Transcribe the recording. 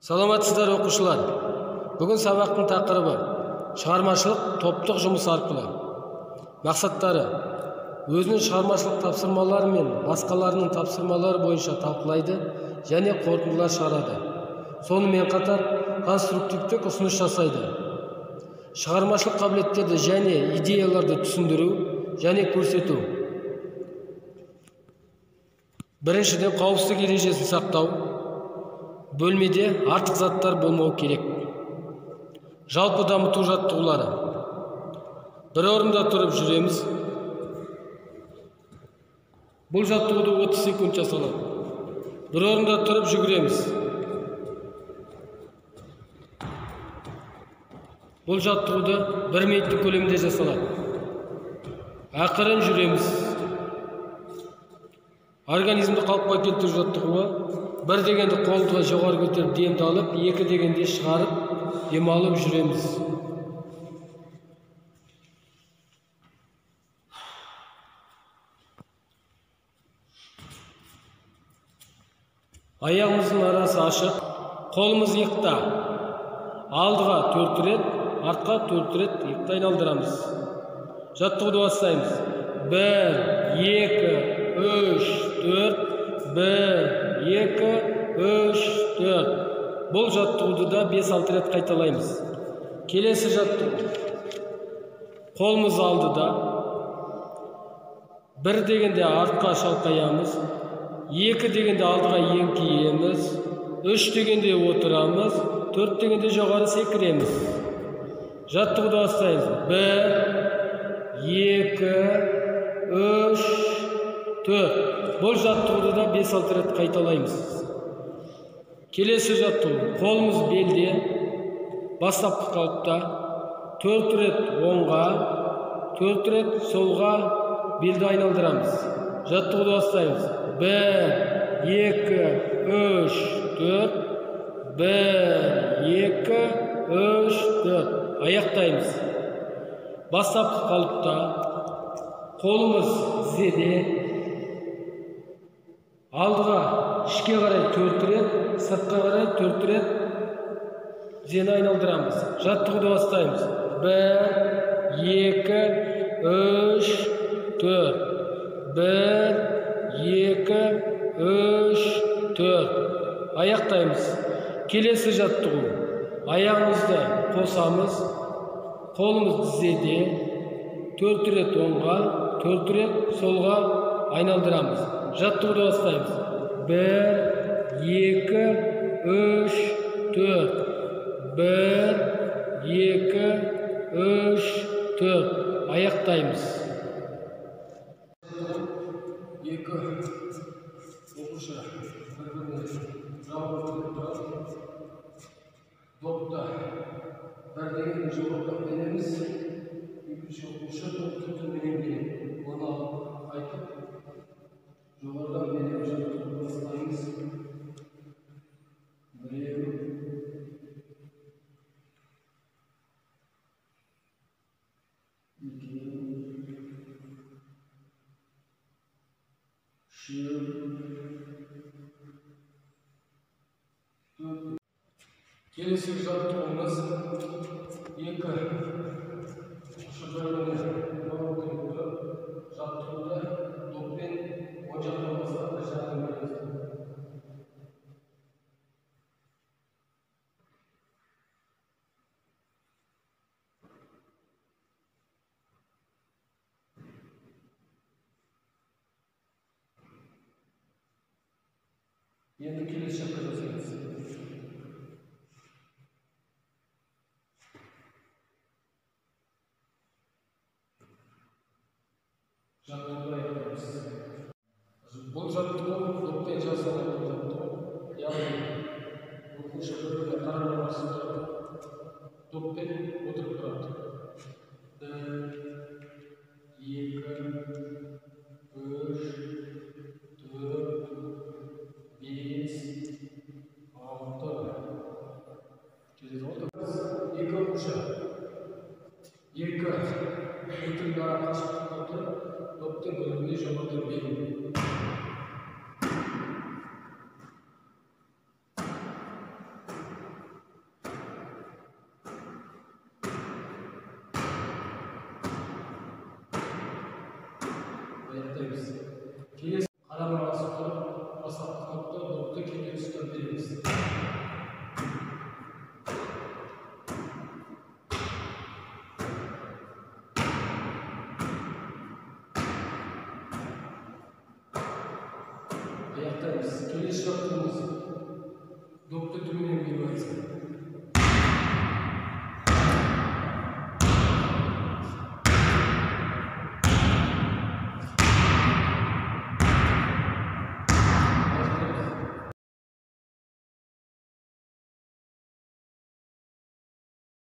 Саламатсыздар окуучулар. Бүгүн сабактын такырыбы чыгармачылык топтук жумуш аркылуу. Максаттары өзүнүн чыгармачылык тапсырмалары менен башкалардын тапсырмалары боюнча талкуулайды жана корутундулар чыгарады. Сону менен катар конструктивдик усунуш жасайды. Чыгармачылык кабилеттерди жана идеяларды түшүндүрүү жана көрсөтүү. Биринчиден, коопсуздук эрежесин сактоо. Бөлмеде артык заттар болмоо керек. Жалпы дамытуу жаттыгуулары. Bir орунда туруп жүрөбүз. Бул жаттыгууду 30 секунд жасалат. Bir орунда туруп жүгүрөбүз. Бул жаттыгууду 1 минуттук көлөмдө жасалат. Акырын жүрөбүз. Организмди калыпка келтирүү жаттыгууга 1 дегенде колду жогору көтөрүп демди алып, 2 дегенде чыгарып, дем алып жүрөбүз. Аягыбыздын арасы ачык, колубуз икта. Алдыга 4 рет, артка 4 рет икта айналдырабыз. Жаттыгууду баштайбыз. 1, 2, 3, 4, 1, 2, 3, 4. Бұл жаттығуды да 5-6 рет кайталаймыз. Келесі жаттығу. Қолымыз алдыда. 1 дегенде артқа шалқаямыз. 2 дегенде алдыға еңкейеміз. 3 дегенде отырамыз. 4 дегенде жоғары секіреміз. Жаттығуды бастаймыз. 1, 2, 3, 4. Бұл жаттығуды да 5-6 рет кайталаймыз. Келесі жаттығу. Қолымыз белде, бастапқы қалыпта 4 рет оңға, 4 рет солға белді айналдырамыз. Жаттығуды бастаймыз. 1, 2, 3, 4. 1, 2, 3, 4. Аяқтаймыз. Бастапқы қалыпта қолымыз тізеде, алдыға ішке қарай 4 рет, сыртқа қарай 4 рет тізені айналдырамыз. Жаттығуды бастаймыз. 1, 2, 3, 4. 1, 2, 3, 4. Аяқтаймыз. Келесі жаттығу. Аяғымызды қосамыз. Қолымыз тізеде 4 рет оңға, 4 рет солға айналдырамыз. Жаттығуды бастаймыз. 1, 2, 3, 4. 1, 2, 3, 4. Аяқтаймыз. 2 оқушы бір-біріне жауап тұрып допта 1 деген жоғарыдан береміз. 2 оқушы допты төменен береді. Оны алып айтып жоғарыдан береміз. Жаттығуды бастаймыз. Біреу, келесі жаттығуымыз 2 шұбырмені жаттығуды доппен оң жақтан бастап жақтан береміз. Енді келесі жаққа жасаймыз. Жаттығуды аяқтаймыз. Бұл жаттығу доппен жасалған жаттығу. Яғни оқушы бір-біріне қарама-қарсы тұрады. Доппен отырып тұрады. 1, 2, 3, 4, 5, 6. Через отырмыз. 2 оқушы. 2 метрдің ара қашықтықта тұрып, топтың бөлігіне жоғарыдан беру. аяктайбыз. Келесі қарамағасы тұрып, бастапқы топта допты келе тұстап береміз. Аяқтаймыз. Келесі жақтымыз допты төменен беріп айтсын.